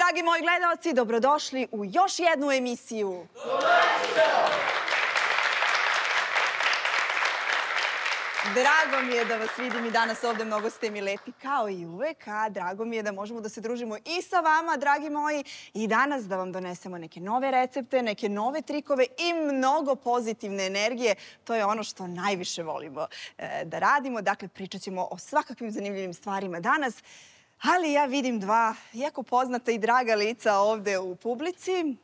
dragi moji gledalci, dobrodošli u još jednu emisiju. Drago mi je da vas vidim i danas ovde, mnogo ste mi lepi kao i uvek, a drago mi je da možemo da se družimo i sa vama, dragi moji, i danas da vam donesemo neke nove recepte, neke nove trikove i mnogo pozitivne energije. To je ono što najviše volimo da radimo. Dakle, pričat ćemo o svakakvim zanimljivim stvarima danas, ali ja vidim dva jako poznata i draga lica ovde u publici.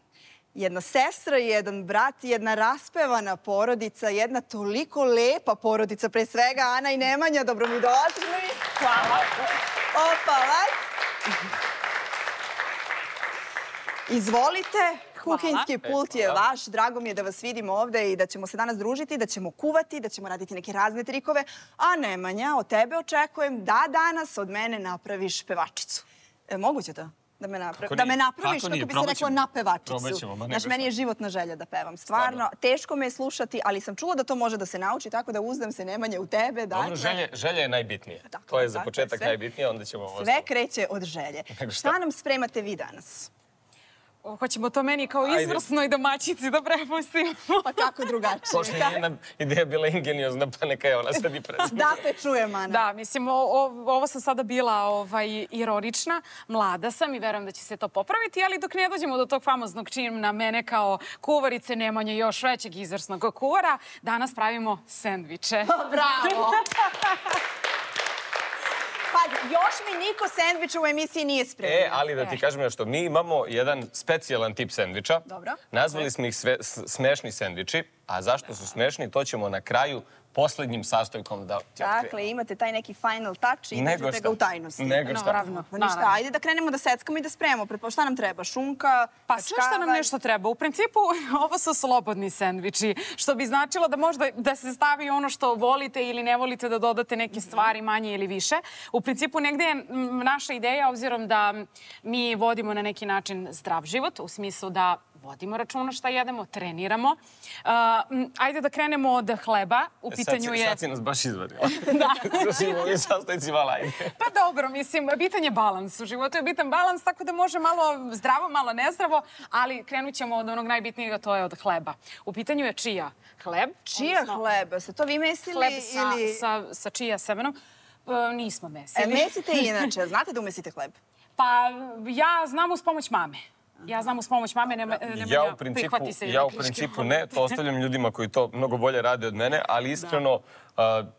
Jedna sestra, jedan brat, jedna raspevana porodica, jedna toliko lepa porodica, pre svega Ana i Nemanja, dobro mi došli. Hvala. Opalac. Izvolite, kuhinjski pult je vaš. Drago mi je da vas vidim ovde i da ćemo se danas družiti, da ćemo kuvati, da ćemo raditi neke razne trikove. A Nemanja, od tebe očekujem da danas od mene napraviš pevačicu. Moguće to? Da me napraviš, kako bi se reklo, na pevačicu. Znaš, meni je životna želja da pevam. Stvarno, teško me je slušati, ali sam čula da to može da se nauči, tako da uzdam se, Nemanje, u tebe. Dobro, želja je najbitnije. To je za početak najbitnije, onda ćemo ovo... Sve kreće od želje. Šta nam spremate vi danas? Hoćemo to meni kao izvrsnoj domaćici da prepustimo. Pa kako drugačije? Pošto je njena ideja bila ingeniozna, pa neka je ona sad i prezime. Da te čujem, Ana. Da, mislim, ovo sam sada bila ironična. Mlada sam i verujem da će se to popraviti, ali dok ne dođemo do tog famoznog čina mene kao kuvarice, Nemanje još većeg izvrsnog kuvara, danas pravimo sendviče. Bravo! Pazi, još mi niko sendviča u emisiji nije spremio. Ali da ti kažem nešto, mi imamo jedan specijalan tip sendviča. Dobro. Nazvali smo ih smešni sendviči, a zašto su smešni, to ćemo na kraju poslednjim sastojkom da ti otkrijemo. Dakle, imate taj neki final touch i držite ga u tajnosti. Nego šta. Pa ništa, ajde da krenemo da seckamo i da spremamo. Šta nam treba? Šunka? Pa sve što nam nešto treba. U principu, ovo su slobodni sendviči, što bi značilo da možda da se stavi ono što volite ili ne volite, da dodate neke stvari manje ili više. U principu, negde je naša ideja, obzirom da mi vodimo na neki način zdrav život, u smislu da vodimo računa šta jedemo, treniramo. Ajde da krenemo od hleba. U pitanju je... Sad si nas baš izvadila. Da. Slušajmo ovim sastojcima, ajde. Pa dobro, mislim, bitan je balans. U životu je bitan balans, tako da može malo zdravo, malo nezdravo, ali krenut ćemo od onog najbitnijega, to je od hleba. U pitanju je čija hleb. Čija hleba? Se to vi mesili? Hleb sa čija semenom. Nismo mesili. Mesite inače. Znate da umesite hleb? Pa ja znam uz pomoć mame. Ja znam uz pomoć mame, prihvati se. Ja u principu ne, to ostavljam ljudima koji to mnogo bolje rade od mene, ali iskreno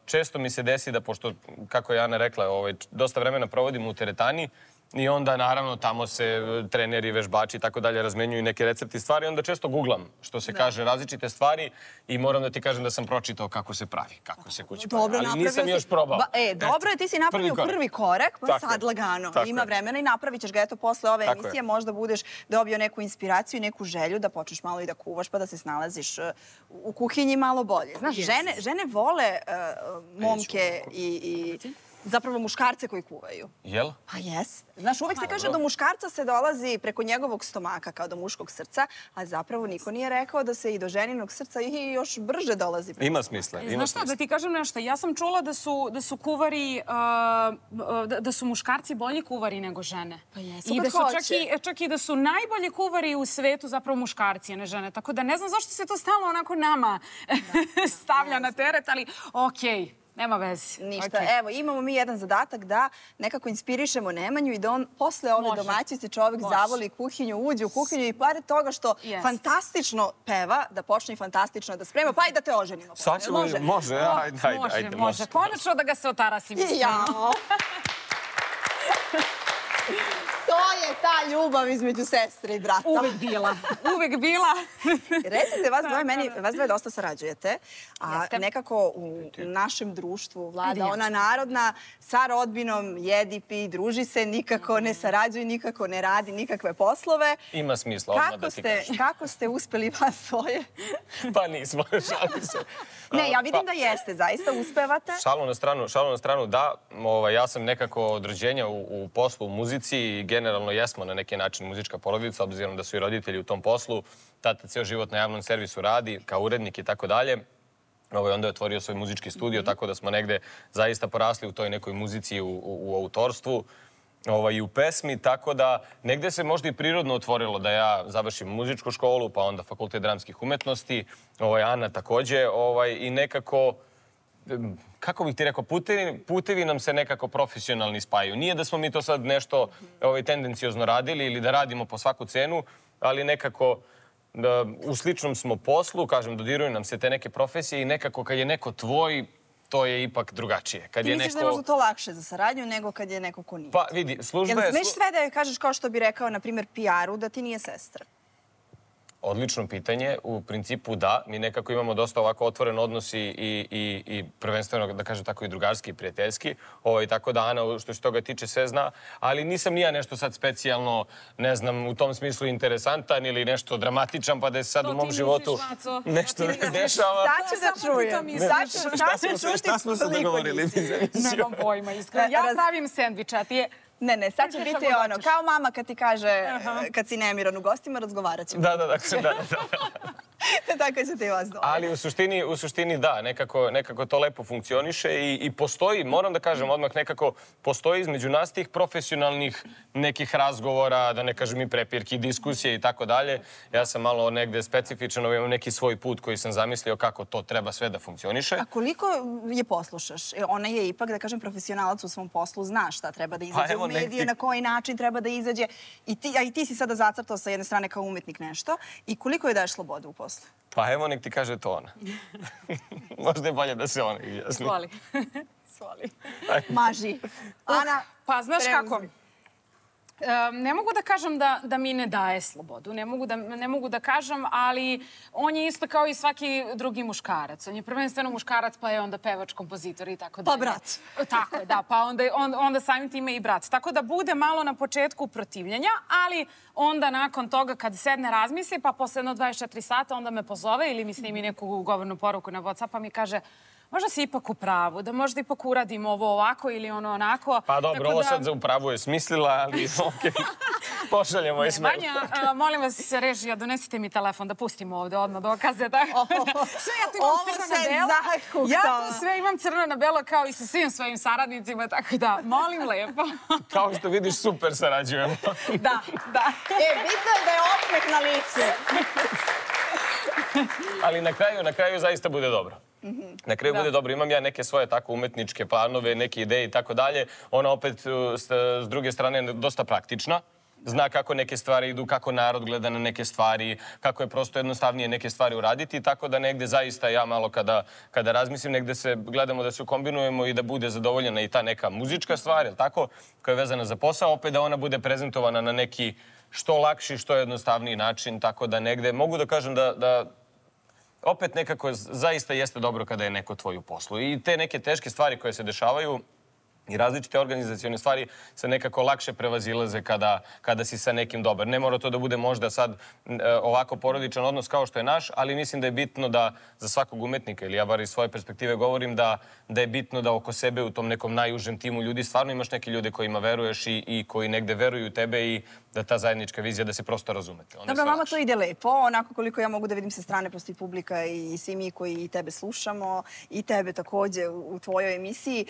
često mi se desi da, pošto, kako je Ana rekla, dosta vremena provodim u teretani i onda, naravno, tamo se treneri, vežbači i tako dalje razmenjuju neke recepti stvari, onda često googlam, što se kaže, različite stvari i moram da ti kažem da sam pročitao kako se pravi, kako se kući pravi, ali nisam još probao. Dobro je, ti si napravio prvi korak, pa sad lagano. Ima vremena i napravit ćeš ga, eto, posle ove emisije možda budeš dobio neku inspiraciju i neku želju da počneš malo i da kuvaš, pa da se snalaziš u kuhinji malo bolje. Znaš, žene vole momke i zapravo muškarce koji kuvaju. Jel? Pa jest. Znaš, uvek se kaže da do muškarca se dolazi preko njegovog stomaka, kao do muškog srca, a zapravo niko nije rekao da se i do ženinog srca i još brže dolazi. Ima smisla. Znaš šta, da ti kažem nešto, ja sam čula da su kuvari, da su muškarci bolji kuvari nego žene. Pa jesu, kad hoće. Čak i da su najbolji kuvari u svetu zapravo muškarci, a ne žene. Tako da ne znam zašto se to stalno onako nama stavlja na teret, ali okej. Nema veze. Ništa. Evo, imamo mi jedan zadatak da nekako inspirišemo Nemanju i da on posle ove domaćice čovjek zavoli kuhinju, uđe u kuhinju i pored toga što fantastično peva, da počne i fantastično da sprema, pa i da te oženimo. Može, ajde. Može. Konačno da ga se otarasim. Jao. To je ta ljubav između sestre i brata. Uvek bila. Uvek bila. Recite, vas dvoje dosta sarađujete, a nekako u našem društvu vlada ona narodna sa rodbinom, jedi, pi, druži se, nikako ne sarađuje, nikako ne radi nikakve poslove. Ima smisla, odmah da ti kažem. Kako ste uspeli vas dvoje? Pa nismo, šalim se. Ne, ja vidim da jeste, zaista uspevate. Šalu na stranu, da. Ja sam nekako od rođenja u poslu, u muzici i generalno jesmo na neki način muzička porodica, obzirom da su i roditelji u tom poslu. Tata ceo život na javnom servisu radi, kao urednik i tako dalje. Onda je otvorio svoj muzički studio, tako da smo negde zaista porasli u toj nekoj muzici, u autorstvu. i u pesmi, tako da negde se možda i prirodno otvorilo da ja završim muzičku školu, pa onda Fakultet dramskih umetnosti, Ana takođe, i nekako, kako bih ti rekao, putevi nam se nekako profesionalni spajaju. Nije da smo mi to sad nešto tendencijozno radili ili da radimo po svaku cenu, ali nekako u sličnom smo poslu, kažem, dodiruju nam se te neke profesije i nekako kad je neko tvoj, to je ipak drugačije. Ti misliš da je možda to lakše za saradnju nego kad je neko ko nije? Pa vidi, služba je... Jel smeš sve da joj kažeš kao što bi rekao, na primjer, PR-u, da ti nije sestra? Odlično pitanje. U principu da. Mi nekako imamo dosta ovako otvoren odnos i prvenstveno, da kažem tako, i drugarski i prijateljski. Tako da Ana, što se toga tiče, sve zna. Ali nisam ni ja nešto sad specijalno, ne znam, u tom smislu interesantan ili nešto dramatičan, pa da se sad u mom životu nešto ne dešava. Sad ću da čujem. Šta smo se dogovorili? Nemam pojma, iskreno. Ja pravim sendvič, a ti je... Ne, sad će biti ono, kao mama kad ti kaže, kad si nemiran u gostima, razgovarat ćemo. Da. Tako će ti vas dobro. Ali u suštini da, nekako to lepo funkcioniše i postoji, moram da kažem odmah, nekako postoji između nas tih profesionalnih nekih razgovora, da ne kažem i prepirki, diskusije i tako dalje. Ja sam malo negde specifičan, imam neki svoj put koji sam zamislio kako to treba sve da funkcioniše. A koliko je poslušaš? Ona je ipak, da kažem, profesionalac u svom poslu, zna šta treba da izađe u medije, na koji način treba da izađe. A i ti si sada zacrtao sa jedne strane kao umetnik nešto. I koliko je daješ slobodu u poslu? Pa evo, nek ti kaže to ona. Možda je bolje da se ona izjasni. Svoli. Maži. Ana, pa znaš kako? Ne mogu da kažem da mi ne daje slobodu. Ne mogu da kažem, ali on je isto kao i svaki drugi muškarac. On je prvenstveno muškarac, pa je onda pevač, kompozitor i tako dalje. Pa brat. Tako je, da. Pa onda samim time i brat. Tako da bude malo na početku protivljenja, ali onda nakon toga kad sedne razmisli, pa posle jedno 24 sata onda me pozove ili mi snimi neku govornu poruku na WhatsApp, pa mi kaže možda si ipak u pravu, da možda ipak uradim ovo ovako ili ono onako. Pa dobro, ovo sad u pravu je smislila, ali okej. Pošaljemo i smeo. Vanja, molim vas, režija, donesite mi telefon da pustimo ovde odmah dokaze. Sve ja to imam crno na belo. Ja to sve imam crno na belo kao i sa svim svojim saradnicima, tako da, molim lepo. Kao što vidiš, super sarađujemo. Da. Bitno je da je osmeh na licu. Ali na kraju zaista bude dobro. Na kraju bude dobro. Imam ja neke svoje tako umetničke planove, neke ideje i tako dalje. Ona opet s druge strane dosta praktična. Zna kako neke stvari idu, kako narod gleda na neke stvari, kako je prosto jednostavnije neke stvari uraditi. Tako da negde zaista ja malo kada razmislim, negde se gledamo da se ukombinujemo i da bude zadovoljena i ta neka muzička stvar, jel tako, koja je vezana za posao, opet da ona bude prezentovana na neki što lakši, što jednostavniji način. Tako da negde mogu da kažem da opet nekako zaista jeste dobro kada je neko tvoj u poslu. I te neke teške stvari koje se dešavaju i različite organizacione stvari se nekako lakše prevazilaze kada si sa nekim dobar. Ne mora to da bude možda sad ovako porodičan odnos kao što je naš, ali mislim da je bitno da za svakog umetnika, ili ja bar iz svoje perspektive govorim, da je bitno da oko sebe u tom nekom najužem timu ljudi stvarno imaš neke ljude kojima veruješ i koji negde veruju u tebe i da ta zajednička vizija, da se prosto razumete. Dobro, vama to ide lepo, onako koliko ja mogu da vidim sa strane, prosto i publika i svi mi koji tebe slušamo i tebe takođe u tvojoj emisiji.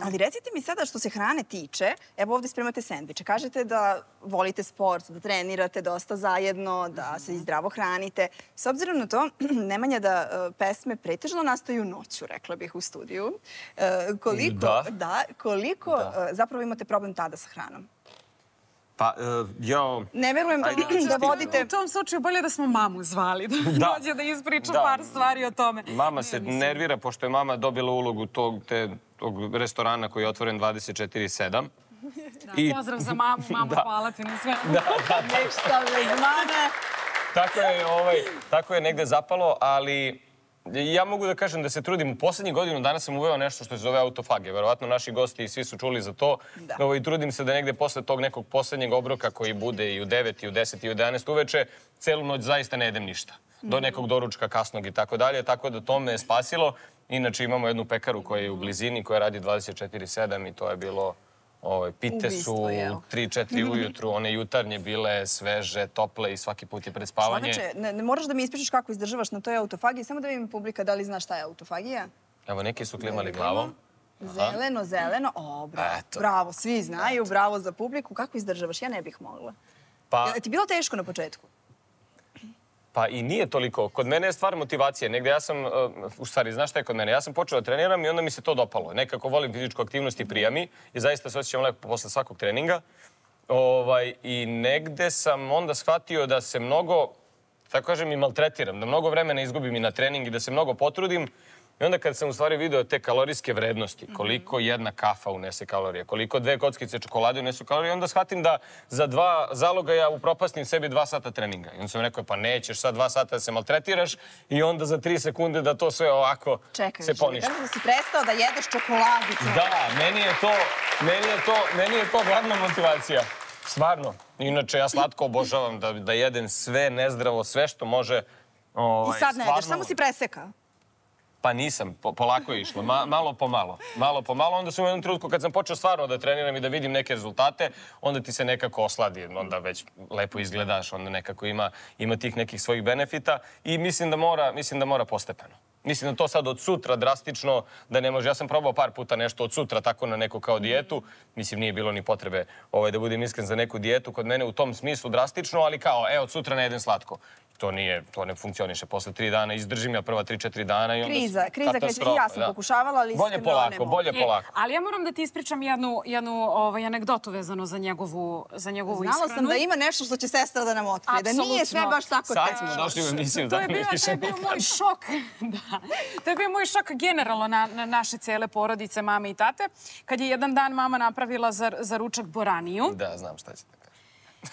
Ali recite mi sada što se hrane tiče, evo ovde spremate sendviče. Kažete da volite sport, da trenirate dosta zajedno, da se i zdravo hranite. S obzirom na to, Nemanja, da pesme pretežno nastaju noću, rekla bih, u studiju. Koliko zapravo imate problem tada sa hranom? Pa, ne verujem da vodite... U tom slučaju bolje da smo mamu zvali, da dođe da ispriča par stvari o tome. Mama se nervira, pošto je mama dobila ulogu tog restorana koji je otvoren 24/7. Pozdrav za mamu, hvala ti na sve. Ništa bez mane. Tako je negde zapalo, ali ja mogu da kažem da se trudim. U poslednjih godinu dana sam uveo nešto što se zove autofagija. Verovatno naši gosti i svi su čuli za to. I trudim se da negde posle tog nekog poslednjeg obroka koji bude i u 9, i u 10, i u 11 uveče, celu noć zaista ne jedem ništa. Do nekog doručka kasnog i tako dalje. Tako da to me je spasilo. Inače imamo jednu pekaru koja je u blizini, koja radi 24/7 i to je bilo... Pite su 3-4 ujutru, one jutarnje bile sveže, tople i svaki put je pred spavanje. Čoveče, ne moraš da mi ispričaš kako izdržavaš na toj autofagiji, samo da vidim publika da li zna šta je autofagija. Evo, neki su klimali glavom. Zeleno, zeleno. O, bravo. Bravo, svi znaju, bravo za publiku. Kako izdržavaš? Ja ne bih mogla. Je ti bilo teško na početku? Pa i nije toliko. Kod mene je stvar motivacije. Negde ja sam, u stvari, znaš šta je kod mene? Ja sam počeo da treniram i onda mi se to dopalo. Nekako volim fizičku aktivnost i prija mi i zaista se osjećam lepo posle svakog treninga. I negde sam onda shvatio da se mnogo, tako kažem, i maltretiram, da mnogo vremena izgubim i na trening i da se mnogo potrudim. I onda kad sam u stvari video te kalorijske vrednosti, koliko jedna kafa unese kalorije, koliko 2 kockice čokolade unesu kalorije, onda shvatim da za 2 zalogaja upropastim sebi 2 sata treninga. I onda sam rekao, pa nećeš sad 2 sata da se maltretiraš i onda za 3 sekunde da to sve ovako se poništi. Čekaj, da si prestao da jedeš čokoladu. Da, meni je to glavna motivacija. Stvarno. Inače, ja slatko obožavam da jedem sve nezdravo, sve što može. I sad ne jedeš, samo si presekao. Pa nisam, polako je išlo, malo po malo. Onda sam u jednom trenutku kad sam počeo stvarno da treniram i da vidim neke rezultate, onda ti se nekako osladi, onda već lepo izgledaš, onda nekako ima tih nekih svojih benefita i mislim da mora postepeno. Mislim da to sad od sutra drastično da ne može. Ja sam probao par puta nešto od sutra tako na neku kao dijetu. Mislim, nije bilo ni potrebe da budem iskren za neku dijetu kod mene u tom smislu drastično, ali kao, od sutra ne jedem slatko. To ne funkcioniše. Posle 3 dana izdržim ja prva 3-4 dana i onda Kriza. I ja sam pokušavala, ali bolje polako. Ali ja moram da ti ispričam jednu anegdotu vezano za njegovu ishranu. Znala sam da ima nešto što će sestra da nam otkrije. Da nije sve baš tako teško. Sad smo došli u emisiju. To je bio moj šok. To je bio moj šok generalno na naše cele porodice, mame i tate. Kad je jedan dan mama napravila za ručak boraniju. Da, znam šta će da kažem.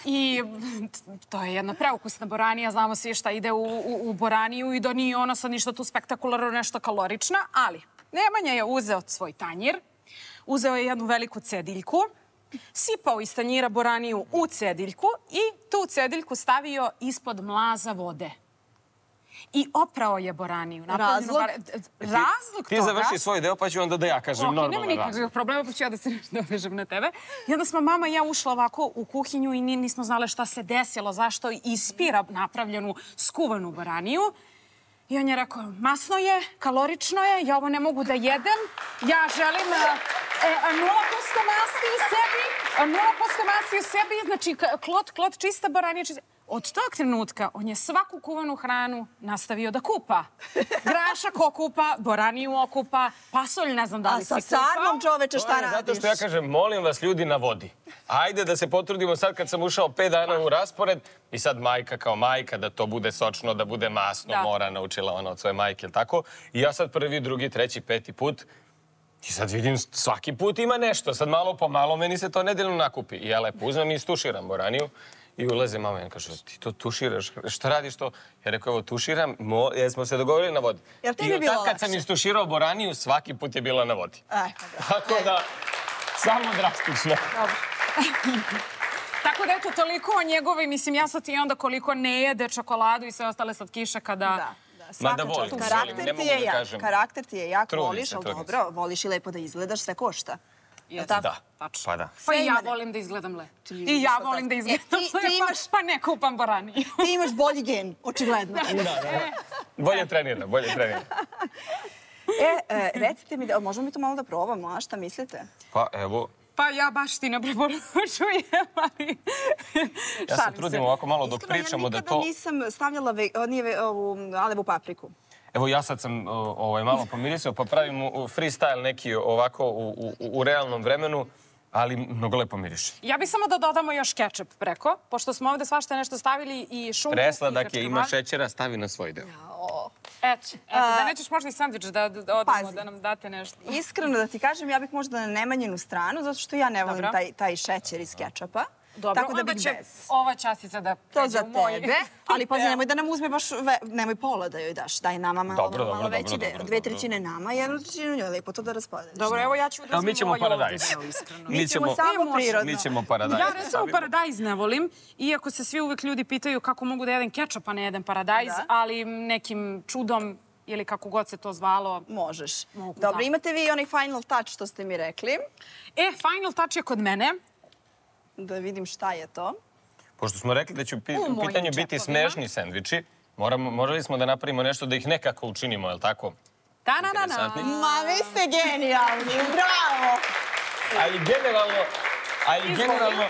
I to je jedna preukusna boranija, znamo svi šta ide u boraniju i da nije ona sad ništa tu spektakularno, nešto kalorična, ali Nemanja je uzeo svoj tanjir, uzeo je jednu veliku cediljku, sipao iz tanjira boraniju u cediljku i tu cediljku stavio ispod mlaza vode. I oprao je boraniju. Razlog? Razlog toga... Ti završi svoj deo, pa ću onda da ja kažem normalan razlog. Nema nikakvih problema, pa ću ja da se dovežem na tebe. I onda smo mama i ja ušla ovako u kuhinju i nismo znale šta se desilo, zašto ispira napravljenu skuvanu boraniju. I on je rekao, masno je, kalorično je, ja ovo ne mogu da jedem, ja želim 0% masti u sebi, 0% masti u sebi, znači klot, čista boranija, čista... Od tog trenutka on je svaku kuvanu hranu nastavio da kupa. Grašak okupa, boraniju okupa, pasolj ne znam da li si kupao. A sa sarmom, čoveče, šta radiš? Zato što ja kažem, molim vas ljudi na vodi. Ajde da se potrudimo sad kad sam ušao 5 dana u raspored i sad majka kao majka, da to bude sočno, da bude masno, mora, naučila ona od svoje majke, ili tako. I ja sad prvi, drugi, treći, 5. put i sad vidim svaki put ima nešto. Sad malo po malo meni se to nedeljno nakupi. I ja lepo uzmem i istuširam boraniju. I ulaze mama i kaže, ti to tuširaš, šta radiš to? Ja rekao, evo, tuširam, jer smo se dogovorili na vodi. I od tad kad sam istuširao boraniju, svaki put je bila na vodi. Tako da, samo drastično. Tako da, eto, toliko o njegovoj, mislim, ja sad i onda koliko ne jede čokoladu i sve ostale slatkiše kada... Mada volim, ne mogu da kažem. Karakter ti je jak, voliš, ali dobro, voliš i lepo da izgledaš, sve košta. Da, pa da. Pa i ja volim da izgledam lepo. I ja volim da izgledam lepo, pa ne kupam boraniju. Ti imaš bolji gen, očigledno. Bolje trenira. Recite mi, možemo mi to malo da probamo, a šta mislite? Pa evo... Pa ja baš ti ne preporučujem, ali... Ja se trudim ovako malo dok pričamo da to... Iskreno, ja nikada nisam stavljala ovu alevu papriku. Evo, ja sad sam malo pomirisao, pa pravim freestyle neki ovako u realnom vremenu, ali mnogo lepo miriše. Ja bih samo da dodamo još kečap preko, pošto smo ovde svašta nešto stavili i šunku. Presladak je, ima šećera, stavi na svoj deo. Eto, da nećeš možda i sandvič da odemo, da nam date nešto. Iskreno da ti kažem, ja bih možda na Nemanjinu stranu, zato što ja ne volim taj šećer iz kečapa. Dobro, onda će ova častica da pređe u moj. To za tebe, ali pazi, nemoj da nam uzme baš, nemoj pola da joj daš. Daj nama malo veći deo. 2/3 nama, 1/3 njoj, lepo to da raspodeliš. Dobro, evo ja ću da uzmem ovaj ovdje deo, iskreno. Mi ćemo samo prirodno. Mi ćemo paradajz. Ja recimo paradajz ne volim, iako se svi uvek ljudi pitaju kako mogu da jedem kečap, a ne jedem paradajz, ali nekim čudom ili kako god se to zvalo. Možeš. Dobro, imate vi onaj final touch što ste mi rekli. Final touch je kod mene. Da vidim šta je to. Pošto smo rekli da će u pitanju biti smešni sendviči, morali smo da napravimo nešto da ih nekako učinimo, je li tako? interesantni. Ma, vi ste genijalni, bravo! Ali generalno...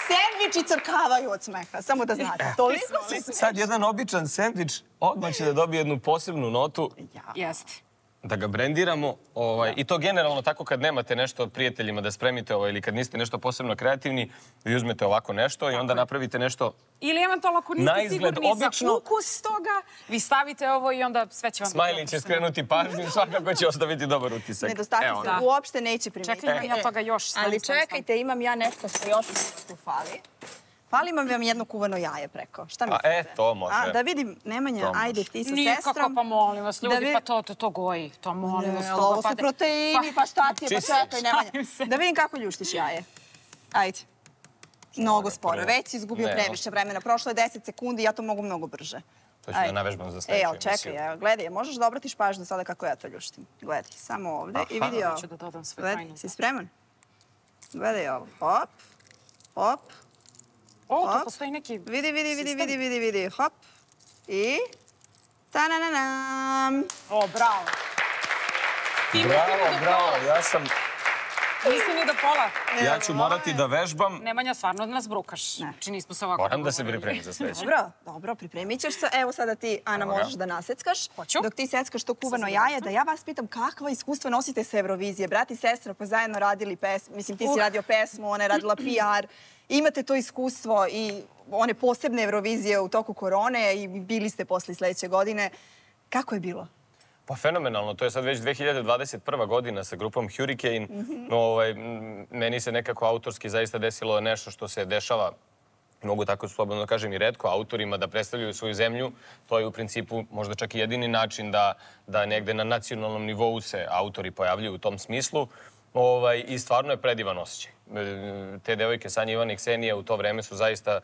Sendviči crkavaju od smeha, samo da znate. Toliko se smeša. Sad jedan običan sendvič odmah će da dobije jednu posebnu notu. Jeste. Da ga brendiramo. I to generalno tako kad nemate nešto prijateljima da spremite ili kad niste nešto posebno kreativni, vi uzmete ovako nešto i onda napravite nešto ili eventualno ako niste sigurni za ukus toga, vi stavite ovo i onda sve će vam... Smajli će skrenuti pažnju i svakako će ostaviti dobar utisak. Nedostaci se uopšte neće primetiti. Čekaj, imam ja toga još. Ali čekajte, imam ja nešto što još tu fali. Fali vam jedno kuvano jaje preko. Šta mislite? To može. Da vidim, Nemanja, ajde ti sa sestrom. Nikako, pa molim vas, ljudi, pa to goji. To molim vas. Ovo su proteini, pa šta ti je, pa čekaj, Nemanja. Da vidim kako ljuštiš jaje. Ajde. Mnogo sporo. Već si izgubio previše vremena. Prošlo je 10 sekundi, ja to mogu mnogo brže. To ću da navežbam za sledeću emisiju. Čekaj, gledaj, možeš da obratiš pažnju sada kako ja to ljuštim. Gledaj, samo ovde i vidi ovo. Ću da dodam sve tajnu. Si spreman? Gledaj ovo. Hop, hop. Tu postoji neki... Vidi. Hop. I... Ta-na-na-nam. Bravo. Bravo, ja sam... Nisi ni do pola. Ja ću morati da vežbam. Nemanja, stvarno nas brukaš. Znači, nismo se ovako... Moram da se pripremim za sledeću. Dobro, pripremit ćeš se. Evo sada ti, Ana, možeš da naseckaš. Hoću. Dok ti seckaš to kuvano jaje, da ja vas pitam kakva iskustva nosite sa Eurovizije. Brat i sestra pa zajedno radili pesmu. Mislim, ti si radio pesmu, ona je radila PR. Imate to iskustvo i one posebne Eurovizije u toku korone i bili ste posle sledeće godine. Kako je bilo? Pa fenomenalno, to je sad već 2021. godina sa grupom Hurricane. Meni se nekako autorski zaista desilo nešto što se dešava, mogu tako slobodno da kažem i retko, autorima da predstavljaju svoju zemlju. To je u principu možda čak i jedini način da negde na nacionalnom nivou se autori pojavljuju u tom smislu. I stvarno je predivan osjećaj. Te devojke, Sanja, Ivana i Ksenija, u to vreme su zaista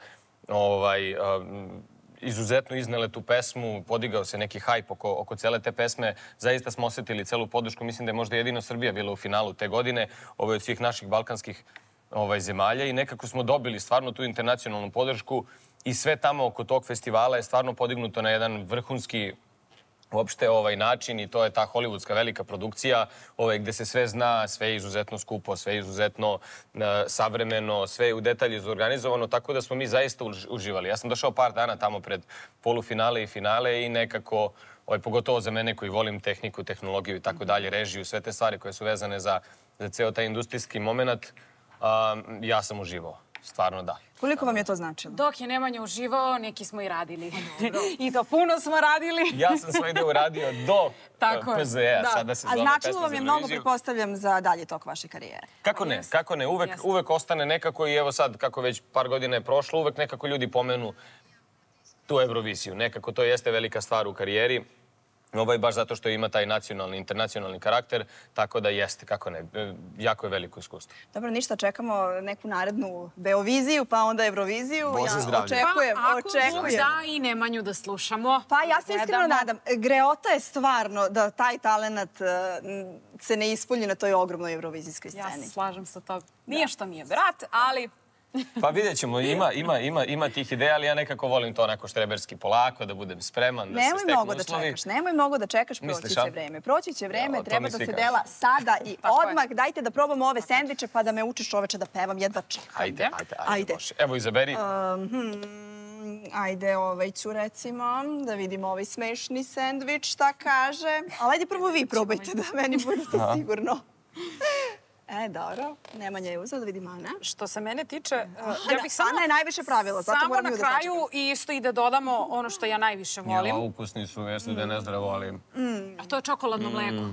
izuzetno iznele tu pesmu, podigao se neki hajp oko cele te pesme. Zaista smo osetili celu podršku. Mislim da je možda jedino Srbija bila u finalu te godine, od svih naših balkanskih zemalja i nekako smo dobili stvarno tu internacionalnu podršku i sve tamo oko tog festivala je stvarno podignuto na jedan vrhunski uopšte način i to je ta hollywoodska velika produkcija gde se sve zna, sve je izuzetno skupo, sve je izuzetno savremeno, sve je u detalji zorganizovano, tako da smo mi zaista uživali. Ja sam došao par dana tamo pred polufinale i finale i nekako, pogotovo za mene koji volim tehniku, tehnologiju i tako dalje, režiju, sve te stvari koje su vezane za ceo taj industrijski moment, ja sam uživao. Stvarno da. Koliko vam je to značilo? Dok je Nemanja uživao, neki smo i radili. I to puno smo radili. Ja sam svoj deo uradio do PZE-a. Sada se zove A značilo vam je mnogo, pretpostavljam, za dalje tok vaše karijere. Kako ne? Uvek ostane nekako i evo sad, kako već par godina je prošlo, uvek nekako ljudi pomenu tu Euroviziju. Nekako to jeste velika stvar u karijeri. Baš zato što ima taj nacionalni, internacionalni karakter, tako da jeste, kako ne, jako je veliko iskustvo. Dobro, ništa, čekamo neku narednu Beoviziju, pa onda Euroviziju. Bože zdravlje. Pa ako da i Nemanju da slušamo. Pa ja se iskreno nadam. Greota je stvarno da taj talent se ne ispolji na toj ogromnoj eurovizijskoj sceni. Ja se slažem sa to. Nije što mi je brat, ali... Pa vidjet ćemo, ima tih ideja, ali ja nekako volim to onako štreberski polako, da budem spreman, da se steknu uslovi. Nemoj mnogo da čekaš, proći će vreme. Proći će vreme, treba da se dela sada i odmah. Dajte da probamo ove sendviče pa da me učiš čoveče da pevam, jedva čekam. Ajde. Evo, izaberi. Ajde, ću recimo da vidimo ovaj smešni sendvič, šta kaže. Ali ajde prvo vi probajte da meni bude to sigurno. Dobro. Nemanja je uzela, da vidim Ana. Što se mene tiče, Ana je najviše pravila, zato moram ju da sačekam. Samo na kraju i isto i da dodamo ono što ja najviše volim. Ukusni su, jeste da je nezdravo, ali... A to je čokoladno mleko.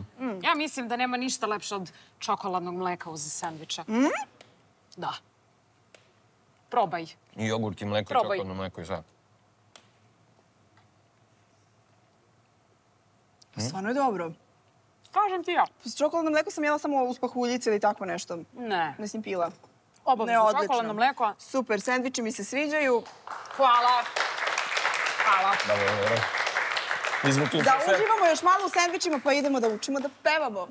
Ja mislim da nema ništa lepše od čokoladnog mleka uz sendviča. Da. Probaj. I jogurt i mleko, čokoladno mleko i sve. Stvarno je dobro. Kažem ti ja. S čokoladno mleko sam jela samo uz pahuljice ili tako nešto. Ne. Mislim pila. Obavezno čokoladno mleko. Super, sendviči mi se sviđaju. Hvala. Hvala. Dobro. Da uživamo još malo u sendvičima pa idemo da učimo da pevamo.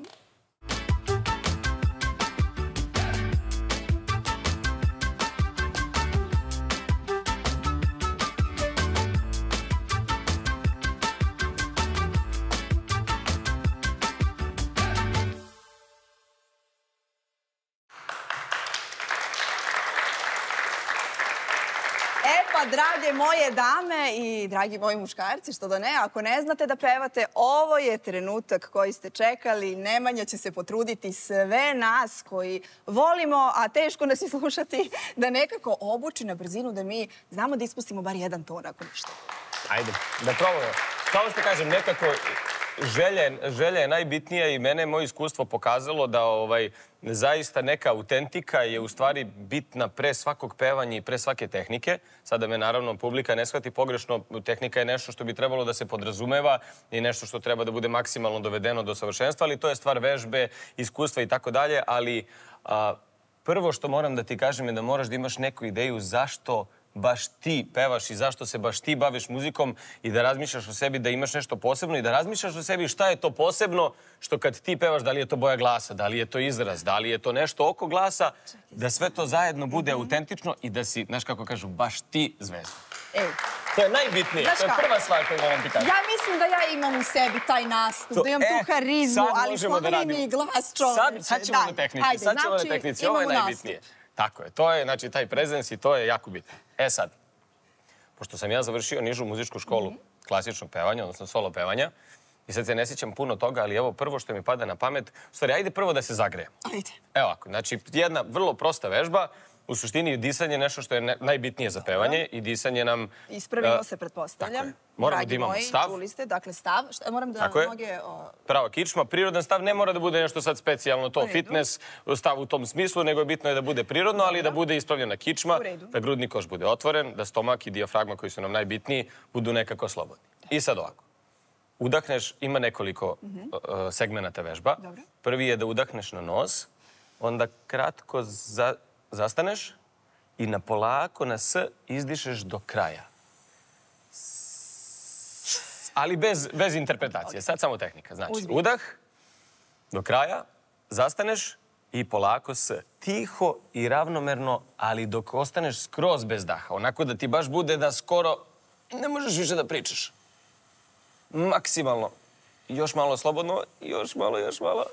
pa drage moje dame i dragi moji muškarci, što da ne, ako ne znate da pevate, ovo je trenutak koji ste čekali. Nemanja će se potruditi sve nas koji volimo, a teško nas i slušati, da nekako obuči na brzinu da mi znamo da ispustimo bar jedan ton, ako ništa. Ajde, da probamo. Kao što kažem, nekako želja je najbitnija i mene moje iskustvo pokazalo da zaista neka autentika je u stvari bitna pre svakog pevanja i pre svake tehnike. Sada me naravno publika ne shvati pogrešno, tehnika je nešto što bi trebalo da se podrazumeva i nešto što treba da bude maksimalno dovedeno do savršenstva, ali to je stvar vežbe, iskustva i tako dalje, ali prvo što moram da ti kažem je da moraš da imaš neku ideju zašto baš ti pevaš i zašto se baš ti baviš muzikom i da razmišljaš o sebi da imaš nešto posebno i da razmišljaš o sebi šta je to posebno što kad ti pevaš, da li je to boja glasa, da li je to izraz, da li je to nešto oko glasa, da sve to zajedno bude autentično i da si, znaš kako kažu, baš ti zvezda. To je najbitnije, to je prva stvar koju moram ti kažem. Ja mislim da ja imam u sebi taj nastup, da imam tu harizmu, ali pomeni mi i glas čoveče. Sad ćemo na tehnici, sad ćemo na tehnici, ovo je najbitnije. Tako je, to je, znači, taj prezens i to je jako bitno. E sad, pošto sam ja završio nižu muzičku školu klasičnog pevanja, odnosno solo pevanja, i sad se ne sjećam puno toga, ali evo prvo što mi pada na pamet, u stvari, ajde prvo da se zagrejem. Ajde. Evo ovako, znači, jedna vrlo prosta vežba, u suštini disanje je nešto što je najbitnije za pevanje i disanje nam... Ispravimo se, pretpostavljam. Tako je. Moramo da imamo stav. Dragi moji, čuli ste, dakle stav. Moram da noge... Prava kičma. Prirodan stav ne mora da bude nešto sad specijalno, to fitness stav u tom smislu, nego je bitno da bude prirodno, ali da bude ispravljena kičma, da grudni koš bude otvoren, da stomak i dijafragma koji su nam najbitniji budu nekako slobodni. I sad ovako. Udahneš, ima nekoliko segmenata vežba. Prvi je da udahneš na nos, onda kratko zastaneš i na polako, na S, izdišeš do kraja. Ali bez interpretacije. Sad samo tehnika. Znači, udah, do kraja, zastaneš i polako S. Tiho i ravnomerno, ali dok ostaneš skroz bez daha. Onako da ti baš bude da skoro ne možeš više da pričaš. Maksimalno. Još malo slobodno, još malo.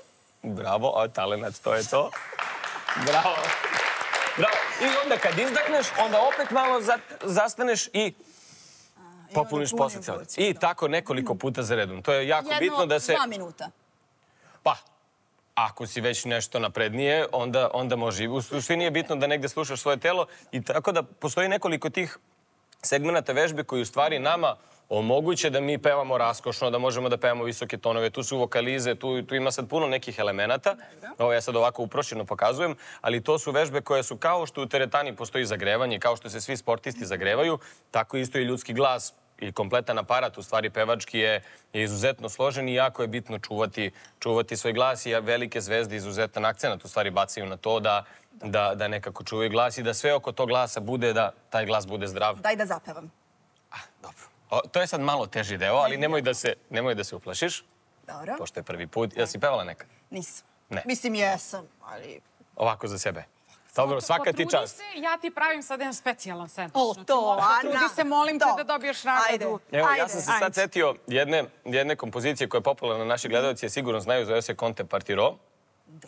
Bravo, a talenat, to je to. Bravo. Bravo. I onda kad izdahneš, onda opet malo zastaneš i popuniš posle celo. I tako nekoliko puta za redom. To je jako bitno da se... 2 minuta. Pa, ako si već nešto naprednije, onda može. U suštini je bitno da negde slušaš svoje telo i tako da postoji nekoliko tih segmenata vežbe koji u stvari nama omoguće da mi pevamo raskošno, da možemo da pevamo visoke tonove. Tu su vokalize, tu ima sad puno nekih elemenata. Ovo ja sad ovako uprošćeno pokazujem, ali to su vežbe koje su kao što u teretani postoji zagrevanje, kao što se svi sportisti zagrevaju, tako isto i ljudski glas i kompletan aparat, u stvari pevački je izuzetno složen i jako je bitno čuvati svoj glas i velike zvezde izuzetan akcenat u stvari bacaju na to da nekako čuvaju glas i da sve oko tog glasa bude, da taj glas bude zdrav. Daj da zapevam. Dobro. To je sad malo teži deo, ali nemoj da se uplašiš. Dobro. Pošto je prvi put. Jel si pevala nekad? Nisam. Ne. Mislim, jesam, ali... Ovako za sebe. Dobro, svaka ti čast. Potrudi se, ja ti pravim sad jedan specijalan sandvič. O, to, Ana. Potrudi se, molim te da dobiješ nagradu. Evo, ja sam se sad setio jedne kompozicije koja je popularna, naši gledalci je sigurno znaju, zove se Conte Partiro.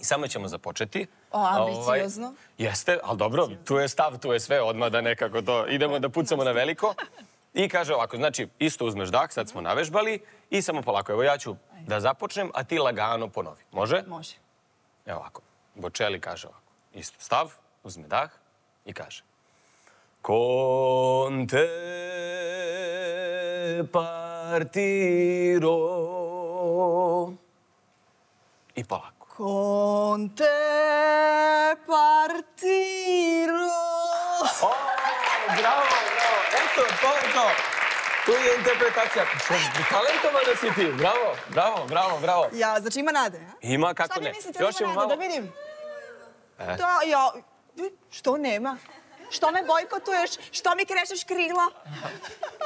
I samo ćemo započeti. O, ambiciozno. Jeste, ali dobro, tu je stav, tu je sve, odmah da nekako to idemo da pucamo na veliko. I kaže ovako, znači, isto uzmeš dah, sad smo navežbali i samo polako. Evo, ja ću da započnem, a ti lagano ponovi. Može? Može. Evo ovako. Bocelli kaže ovako. Isto stav, uzme dah i kaže. Conte partiro. I polako. Conte partiro. O, bravo, bravo. Eto, to je to. Tu je interpretacija. Talentovana si ti. Bravo, bravo, bravo, bravo. Ja, znači ima nade, a? Ima, kako ne. Šta mi mislite da ima nade, da vidim? Da, ja... Što nema? Što me bojkotuješ? Što mi krešeš krila?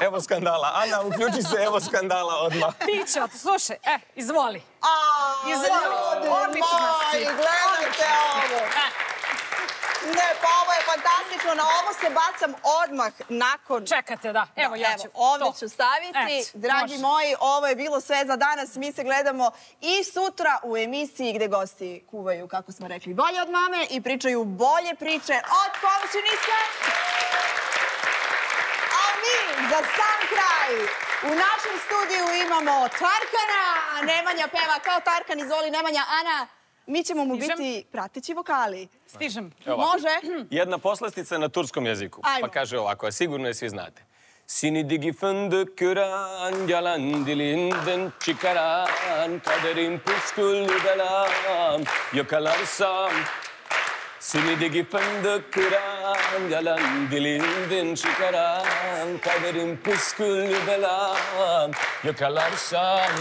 Evo skandala. Ana, uključi se, evo skandala odmah. Pićo, slušaj, izvoli. Izvoli, odlično si. Gledajte ovo. Ne, pa ovo je fantastično. Na ovo se bacam odmah nakon... Čekate, da. Evo, ja ću. Ovdje ću staviti. Dragi moji, ovo je bilo sve za danas. Mi se gledamo i sutra u emisiji gde gosti kuvaju, kako smo rekli, bolje od mame i pričaju bolje priče od komšinice. Za sam kraj u našem studiju imamo Tarkana. Nemanja peva kao Tarkan, izvoli Nemanja. Ana, mi ćemo mu biti prateći vokali. Stižem. Može? Jedna poslastica na turskom jeziku. Ajmo. Pa kaže ovako, a sigurno je svi znate. Sini digi fındık kıran, yalan dilinden çıkaran, kaderin püsküllü belam, yakalarsam. Seni digi fındık kıran, yalan dilinden çıkaran, kaderin püsküllü belam, yakalarsam.